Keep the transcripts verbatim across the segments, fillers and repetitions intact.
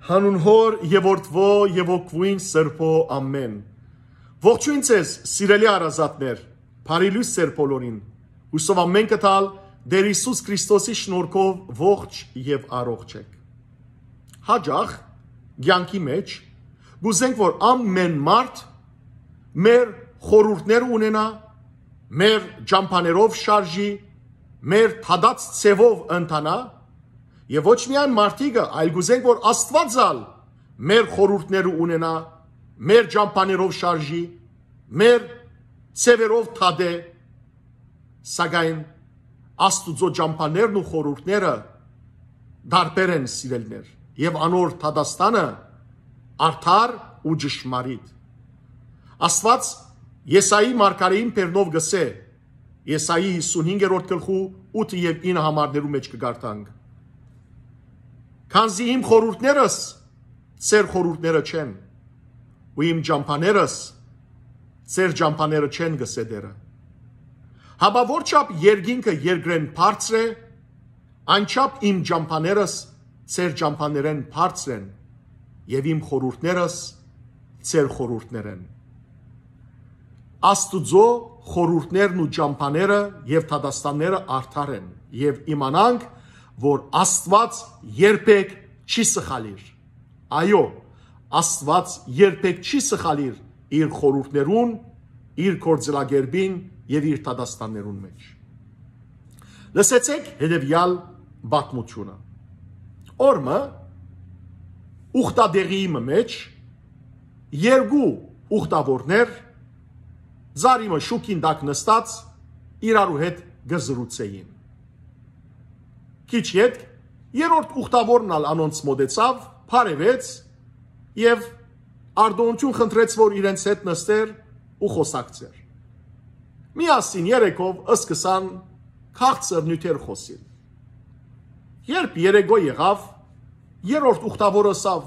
Հանուն Հօր եւ Որդուոյ եւ Հոգւոյն Սրբոյ, ամէն։ Ողջոյն ձեզ, սիրելի հարազատներ, բարի լոյս ձեր բոլորին։ Հուսով ամէնքը տալ Տէր Յիսուս Քրիստոսի շնորհքով ողջ եւ առողջ եք։ Հաճախ կեանքի մէջ կ'ուզենք, որ ամէն մարդ մեր խորհուրդները ունենայ, մեր ճամբաներով շարժի, մեր թադած ձեւով ընթանայ, եւ ոչ միայն մարդիկը, այլ կ'ուզենք, որ Աստուած ալ մեր խորհուրդները ունենայ, մեր ճամբաներով շարժի, մեր ձեւերով թադէ, սակայն Աստուծոյ ճամբաներն ու խորհուրդները տարբեր են, սիրելիներ, եւ անոր թադաստանը արդար ու ճշմարիտ։ Աստուած Եսայի մարգարէին բերնով կ'ըսէ, Եսայի հիսունհինգերորդ գլխու ութը եւ ինը համարներու մէջ կը կարդանք. «Քանզի իմ խորհուրդներս ձեր խորհուրդները չեն, ու իմ ճամբաներս ձեր ճամբաները չեն», կ'ըսէ Տէրը։ Հապա որչափ երկինքը երկրէն բարձր է, այնչափ իմ ճամբաներս ձեր ճամբաներէն բարձր են, եւ իմ խորհուրդներս ձեր խորհուրդներէն։ Աստուծոյ խորհուրդներն ու ճամբաները եւ թադաստանները արդար են, եւ իմանանք, որ Աստուած երբեք չի սխալիր։ Այո, Աստուած երբեք չի սխալիր իր խորհուրդներուն, իր գործելակերպին եւ իր թադաստաններուն մէջ։ Լսեցէք հետեւեալ պատմութիւնը։ Օր մը ուխտատեղի մը մէջ երկու ուխտաւորներ ծառի մը շուքին տակ նստած իրարու հետ կը զրուցէին։ Քիչ ետք երրորդ ուխտաւորն ալ անոնց մօտեցաւ, բարեւեց եւ արտօնութիւն խնդրեց, որ իրենց հետ նստեր ու խօսակցէր։ Միասին երեքով սկսան քաղցր նիւթեր խօսիլ։ Երբ երեկոյ եղաւ, երրորդ ուխտաւորը ըսաւ.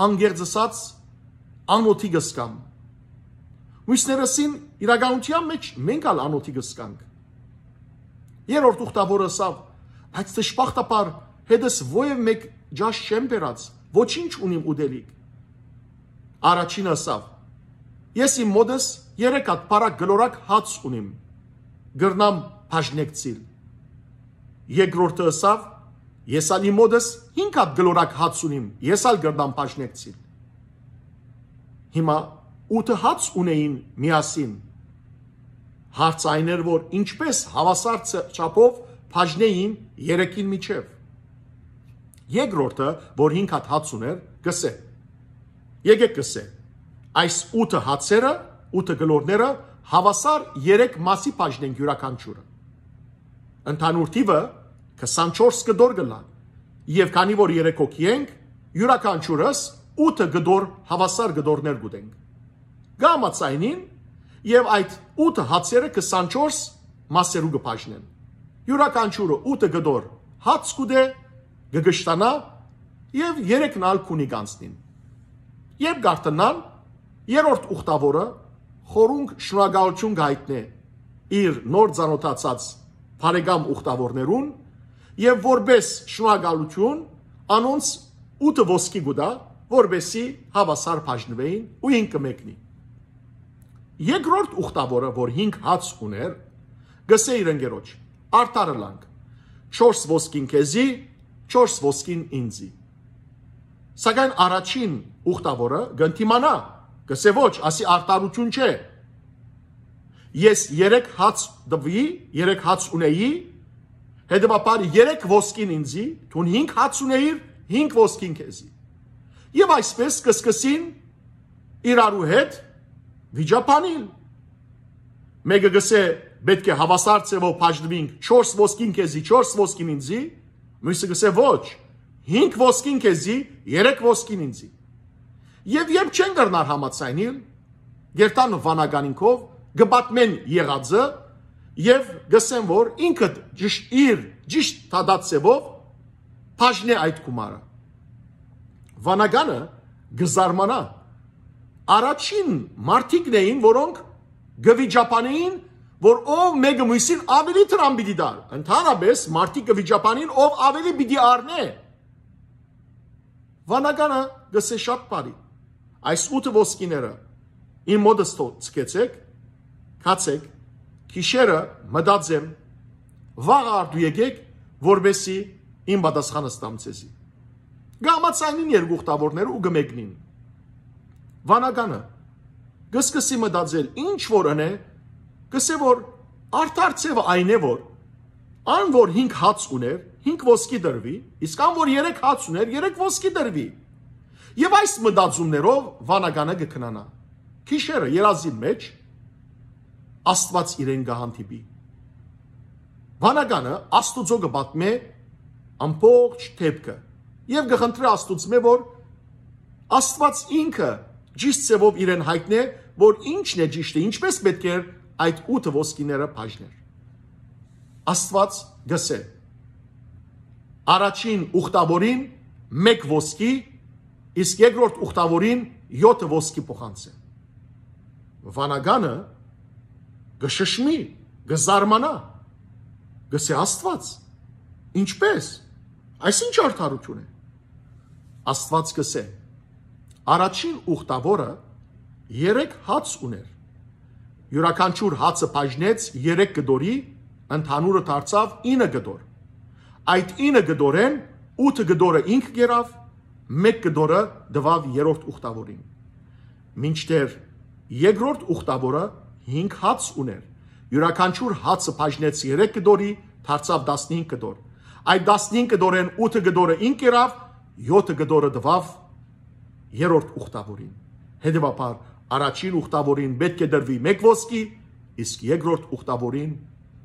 «Անկեղծ ըսած, անօթի կ'ըսկամ»։ Մյուսներս ըսին. «Իրականութեան մէջ մենք ալ անօթի կ'ըսկանք»։ Երրորդ ուխտաւորը ըսաւ. «Բայց դժբախտաբար հետս ոեւ մէկ ճաշ չեմ բերած, ոչինչ ունիմ ուտելիք»։ Առաջինը ըսաւ. «Ես իմ մօտս երեք հատ բարակ գլորակ հաց ունիմ, կրնամ բաժնեկցիլ»։ Երկրորդը ըսաւ. «Ես ալ իմ մօտս հինգ հատ գլորակ հաց ունիմ, ես ալ կրնամ բաժնեկցիլ»։ Հիմա ութը հաց ունէին միասին։ Հարցը այն էր, որ ինչպէս հաւասար ց-, չափով բաժնէին երեքին միջեւ։ Երկրորդը, որ հինգ հատ հաց ունէր, կ'ըսէ. «Եկէք», կ'ըսէ, «այս ութը հացերը, ութը գլորները հաւասար երեք մասի բաժնենք յուրաքանչիւրը։ Ընդհանուր թիւը քսանչորս կտոր կ'ըլլայ, եւ քանի որ երեք հոգի ենք, յուրաքանչիւրս ութը կտոր, հաւասար կտորներ կ'ուտենք»։ Կը համաձայնին եւ այդ ութը հացերը քսանչորս մասերու կը բաժնեն։ Յուրաքանչիւրը ութը կտոր հաց կ'ուտէ, կը կշտանայ եւ երեքն ալ քունի կ'անցնին։ Երբ կ'արթնան, երրորդ ուխտաւորը խորունկ շնորհակալութիւն կ'այտնէ իր նոր ծանօթացած բարեկամ ուխտաւորներուն եւ որպէս շնորհակալութիւն անոնց ութը ոսկի կու տայ, որպէսզի հաւասար բաժնուէին ու ինքը մեկնի։ Երկրորդ ուխտաւորը, որ հինգ հաց ունէր, կ'ըսէ իր ընկերոջ. «Արդար ըլանք, չորս ոսկին քեզի, չորս ոսկին ինձի»։ Սակայն առաջին ուխտաւորը կ'ընդդիմանայ, կ'ըսէ. «Ոչ, ասի արդարութիւն չէ։ Ես երեք հաց տուի, երեք հաց ունեի, հետեւաբար երեք ոսկին ինձի, դուն հինգ հաց ունեիր, հինգ ոսկին քեզի»։ Եւ այսպէս կ'սկսին իրարու հետ վիճաբանիլ։ Մէկը կ'ըսէ. «Պէտք է հաւասար ձեւով բաժնուինք, չորս ոսկին քեզի, չորս ոսկին ինձի»։ Մյուսը կ'ըսէ. «Ոչ, հինգ ոսկին քեզի, երեք ոսկին ինձի»։ Եւ երբ չեն կրնար համաձայնիլ, կ'երթան վանականին քով, կը պատմեն եղածը եւ կ'ըսեն, որ ինքը ճիշ-, իր ճիշտ թադած ձեւով բաժնէ այդ գումարը։ Վանականը կը զարմանայ։ Առաջին մարդիկն էին, որոնք կը վիճաբանեին, որ ով մէկը մյուսին ավելի դրամ պիտի տար։ Ընդհանրապես մարդիկ կը վիճաբանին, ով ավելի պիտի առնէ։ Վանականը կ'ըսէ շատ բարի. «Այս ութը ոսկիները իմ մօտս թող ցկեցէք, գացէք, գիշերը մտածեմ, վաղը արդու եկէք, որպեսզի իմ պատասխանը ստամ ձեզի»։ Կ'համաձայնին երկու ուխտաւորները ու կը մեկնին։ Վանականը կը սկսի մտածել, ինչ որ ընէ, կ'ըսէ որ արդար ձեւը այն է որ ան որ հինգ հաց ունէր, հինգ ոսկի տրուի, իսկ ան որ երեք հաց ունէր, երեք ոսկի տրուի։ Եւ այս մտածումներով վանականը կը քնանայ։ Գիշերը երազին մէջ Աստուած իրեն կը հանդիպի։ Վանականը Աստուծոյ կը պատմէ ամբողջ դէպքը եւ կը խնդրէ Աստուծմէ որ Աստուած ինքը ճիշդ ձեւով իրեն յայտնէ որ ինչն է ճիշդը, ինչպէս պէտք էր այդ ութը ոսկիները բաժներ։ Աստուած կ'ըսէ. «Առաջին ուխտաւորին մէկ ոսկի, իսկ երկրորդ ուխտաւորին եօթը ոսկի փոխանցէ»։ Վանականը կը շշմի, կը զարմանայ, կ'ըսէ. «Աստուած, ինչպէս, այս ի՞նչ արդարութիւն է»։ Աստուած կ'ըսէ. «Առաջին ուխտաւորը երեք հաց ունէր, յուրաքանչիւր հացը բաժնեց երեք կտորի, ընդհանուրը դարձաւ ինը կտոր։ Այդ ինը կտորէն ութը կտորը ինք կերաւ, մէկ կտորը տուաւ երրորդ ուխտաւորին։ Մինչդեռ երկրորդ ուխտաւորը հինգ հաց ունէր, յուրաքանչիւր հացը բաժնեց երեք կտորի, դարձաւ տասնհինգ կտոր։ Այդ տասնհինգ կտորէն ութը կտորը ինք կերաւ, եօթը կտորը տուաւ երրորդ ուխտաւորին։ Հետեւաբար առաջին ուխտաւորին պէտք է տրուի մէկ ոսկի, իսկ երկրորդ ուխտաւորին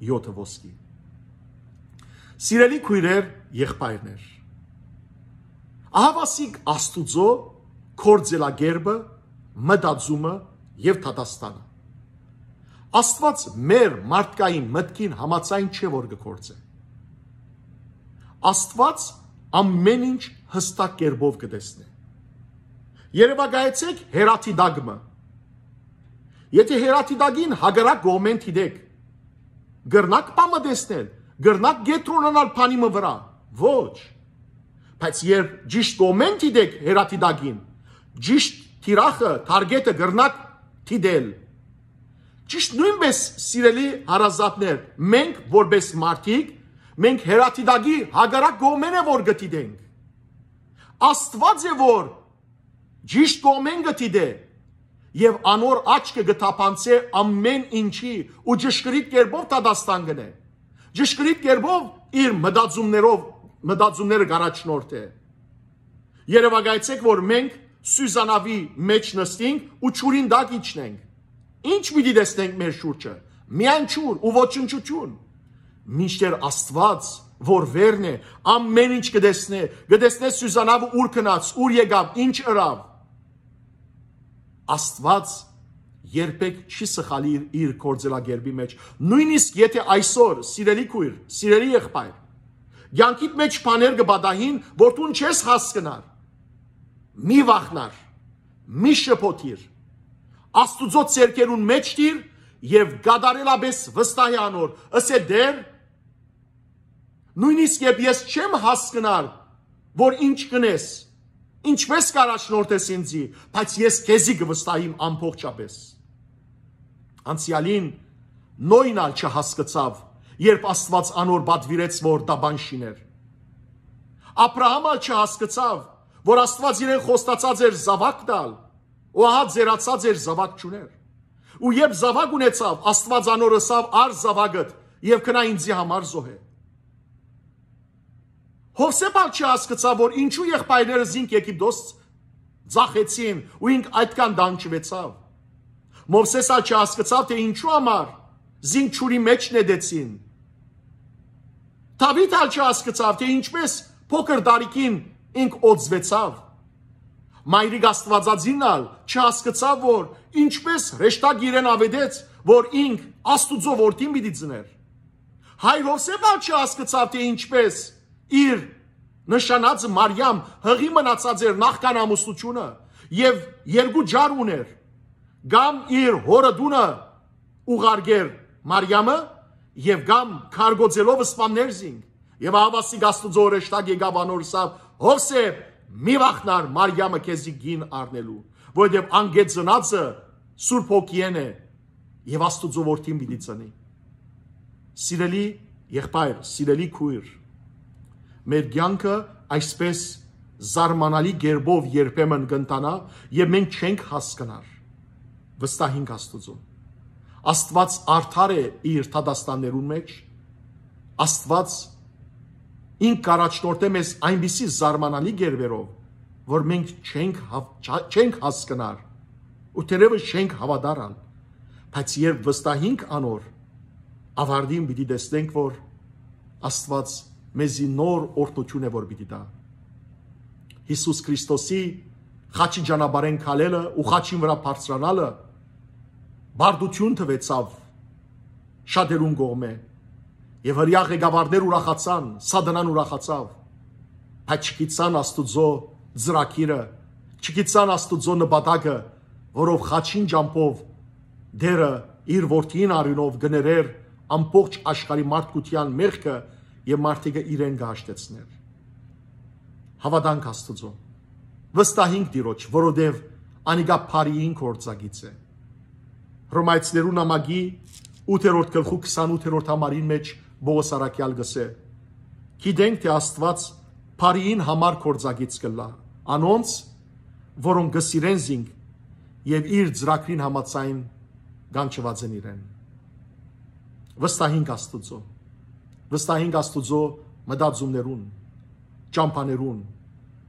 եօթը ոսկի»։ Սիրելի քոյրեր, եղբայրներ, ահաւասիկ Աստուծոյ գործելակերպը, մտածումը եւ դատաստանը։ Աստուած մեր մարդկային մտքին համաձայն չէ որ կը գործէ։ Աստուած ամեն ինչ յստակ կերպով կը տեսնէ։ Երեւակայեցէք հեռադիտակ մը։ Եթե հեռադիտակին հակառակ կողմէն դիտեք, կրնա՞ք բան մը տեսնել, կրնա՞ք կեդրոնանալ բանի մը վրա։ Ոչ։ Բայց երբ ճիշտ կողմէն դիտեք հեռադիտակին, ճիշտ թիրախը, թարգեթը կրնաք դիտել։ Ճիշտ նոյնպէս, սիրելի հարազատներ, մենք որպես մարդիկ, մենք հեռադիտակի հակառակ կողմէն է որ կը դիտենք։ Աստուած է որ ճիշտ կողմէն կը դիտէ եւ անոր աչքը կը թափանցէ ամեն ինչի ու ճշգրիտ կերպով դատաստան կ'ընէ։ Ճշգրիտ կերպով իր մտածումներով, մտածումները կ'առաջնորդէ։ Երեւակայեցէք որ մենք սուզանաւի մէջ նստինք ու ջուրին տակ իջնենք։ Ի՞նչ պիտի տեսնենք մեր շուրջը։ Միայն ջուր ու ոչնչութիւն։ Մինչդեռ Աստուած որ վերն է, ամեն ինչ կը տեսնէ, կը տեսնէ սուզանաւը ուր գնաց, ուր եկաւ, ինչ ըրաւ։ Աստուած երբեք չի սխալիր իր գործելակերպի մէջ։ Նոյնիսկ եթե այսօր, սիրելի քոյր, սիրելի եղբայր, կեանքիդ մէջ բաներ կը պատահին որ դուն չես հասկնար, մի վախնար, մի շփոթիր, Աստուծոյ ձեռքերուն մէջ դիր եւ կատարելապէս վստահի անոր, ըսէ. «Տէր, նոյնիսկ երբ ես չեմ հասկնար որ ինչ կ'ընես, ինչպէս կ'առաջնորդես ինձի, բայց ես քեզի կը վստահիմ ամբողջապէս»։ Անցեալին Նոյն ալ չհասկցաւ, երբ Աստուած անոր պատուիրեց որ տապան շիներ։ Աբրահամ ալ չհասկցաւ որ Աստուած իրեն խոստացած էր զաւակ տալ, ու ահա ծերացած էր, զաւակ չունէր։ Ու երբ զաւակ ունեցաւ, Աստուած անոր ըսաւ. «Առ զաւակդ եւ գնա ինձի համար զոհէ»։ Յովսէփ ալ չհասկցաւ որ ինչու եղբայրները զինք Եգիպտոս ձախեցին ու ինք այդքան տանջուեցաւ։ Մովսէս ալ չհասկցաւ թէ ինչու համար զինք ջուրի մէջ նետեցին։ Դաւիթ ալ չհասկցաւ թէ ինչպէս փոքր տարիքին ինք օծուեցաւ։ Մայրիկ Աստուածածինն ալ չհասկցաւ որ ինչպէս հրեշտակ իրեն աւետեց որ ինք Աստուծոյ որդին պիտի ծնէր։ Հայր Յովսէփ ալ չհասկցաւ թէ ինչպէս իր նշանածը Մարիամ յղի մնացած էր նախքան ամուսնութիւնը եւ երկու ջար ունէր, կամ իր հօրը տունը ուղարկեր Մարիամը, եւ կամ քարկոծելով սպաններ զինք։ Եւ ահավասիկ Աստուծոյ հրեշտակ եկաւ անոր, ըսաւ. «Յովսէփ, Մի վախնար Մարիամը քեզի կին առնելու, որովհետեւ ան կը ծնածը Սուրբ Հոգիէն է եւ Աստուծոյ որդին պիտի ծնի։ Սիրելի եղբայր, սիրելի քույր, մեր կեանքը այսպէս զարմանալի կերպով երբեմն կ'ընթանայ եւ մենք չենք հասկնար։ Վստահինք Աստուծուն։ Աստուած արդար է իր դատաստաններուն մէջ։ Աստուած ինք կ'առաջնորդէ մեզ այնպիսի զարմանալի կերպերով, որ մենք չենք հաւ-, չա-, չենք հասկնար ու թերեւս չենք հաւատար ալ, բայց երբ վստահինք անոր, ավարտին պիտի տեսնենք, որ Աստուած մեզի նոր օրհնութիւն է, որ պիտի տայ։ Յիսուս Քրիստոսի խաչի ճանապարհէն քալելը ու խաչին վրայ բարձրանալը բարդութիւն տուեցաւ շատերուն կողմէ, եւ հրեայ ղեկավարներ ուրախացան, Սատանան ուրախացաւ, բայց չգիտցան Աստուծոյ ծրագիրը, չգիտցան Աստուծոյ նպատակը, որով խաչին ճամբով Տէրը իր որդին արիւնով կը ներէր ամբողջ աշխարհի մարդկութեան մեղքը եւ մարդիկը իրեն կը հաշտեցնէր։ Հաւատանք Աստուծոյ, վստահինք Տիրոջ, որովհետեւ անիկա բարիին գործակից է։ Հռոմայեցիներուն նամակի ութերորդ գլխու քսանութերորդ համարին մէջ Պողոս առաքեալ կ'ըսէ. «Գիտենք թէ Աստուած բարիին համար գործակից կ'ըլլայ անոնց, որոնք կը սիրեն զինք եւ իր ծրագրին համաձայն կանչուած են իրեն»։ Վստահինք Աստուծոյ, վստահինք Աստուծոյ մտածումներուն, ճամբաներուն,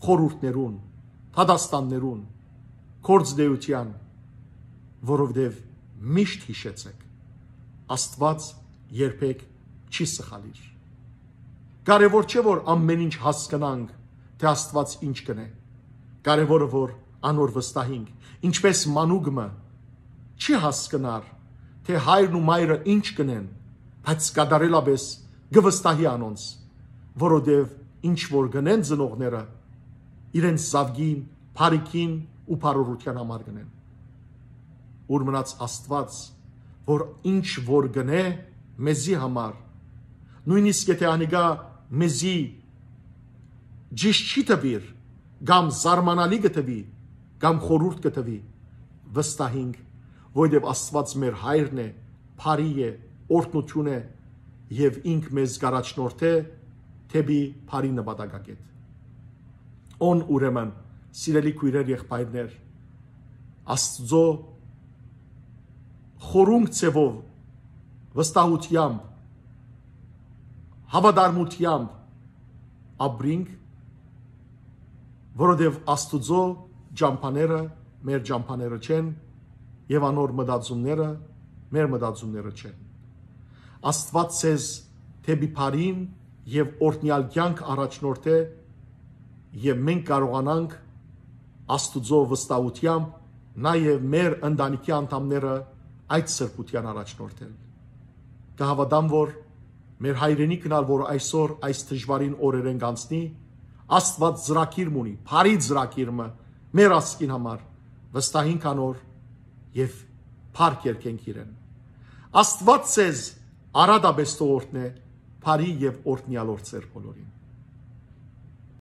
խորհուրդներուն, դատաստաններուն, գործնեութեան, որովհետեւ միշտ յիշեցէք, Աստուած երբեք չի սխալիր։ Կարեւոր չէ, որ ամեն ինչ հասկնանք, թէ Աստուած ինչ կ'ընէ։ Կարեւորը, որ անոր վստահինք, ինչպէս մանուկ մը չի հասկնար, թէ հայրն ու մայրը ինչ կ'ընեն, բայց կատարելապէս կը վստահի անոնց, որովհետեւ ինչ որ կ'ընեն ծնողները, իրենց զաւկին, բարիքին ու բարօրութեան համար կ'ընեն։ Ուր մնաց Աստուած, որ ինչ որ կ'ընէ մեզի համար, նոյնիսկ եթէ անիկա մեզի ճիշդ չի թուիր, կամ զարմանալի կը թուի, կամ խորհուրդ կը թուի, վստահինք, որովհետեւ Աստուած մեր հայրն է, բարի է, օրհնութիւն է, եւ ինք մեզ կ'առաջնորդէ դէպի բարի նպատակակետ։ Ան ուրեմն, սիրելի քոյրեր, եղբայրներ, Աստուծոյ խորունկ ձեւով, վստահութեամբ, հաւատարմութեամբ ապրինք, որովհետեւ Աստուծոյ ճամբաները մեր ճամբաները չեն եւ անոր մտածումները մեր մտածումները չեն։ Աստուած ձեզ դէպի բարին եւ օրհնեալ կեանք առաջնորդէ, եւ մենք կարողանանք Աստուծոյ վստահութեամբ նաեւ մեր ընտանիքի անդամները այդ սրբութեան առաջնորդել։ Կը հաւատամ, որ մեր հայրենիքն ալ, որ այսօր այս դժուարին օրերէն կանցնի, Աստուած ծրագիր մունի, բարի ծրագիր մը մեր ազգին համար, վստահինք անոր եւ փառք երգենք իրեն։ Աստուած ձեզ արատապէս թող օրհնէ, բարի եւ օրհնեալ օր ձեր բոլորին։